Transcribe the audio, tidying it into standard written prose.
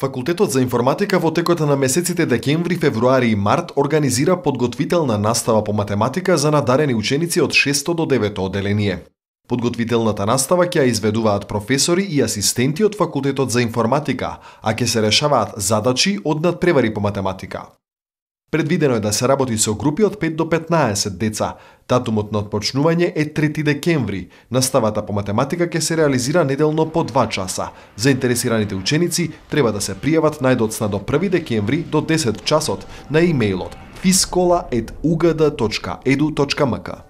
Факултетот за информатика во текот на месеците декември, февруари и март организира подготвителна настава по математика за надарени ученици од 6 до 9 одделение. Подготвителната настава ќе ја изведуваат професори и асистенти од Факултетот за информатика, а ќе се решаваат задачи од надпревари по математика. Предвидено е да се работи со групи од 5 до 15 деца. Датумот на отпочнување е 3 декември. Наставата по математика ќе се реализира неделно по 2 часа. Заинтересираните ученици треба да се пријават најдоцна до 1 декември до 10 часот на имејлот fiskola@ugd.edu.mk.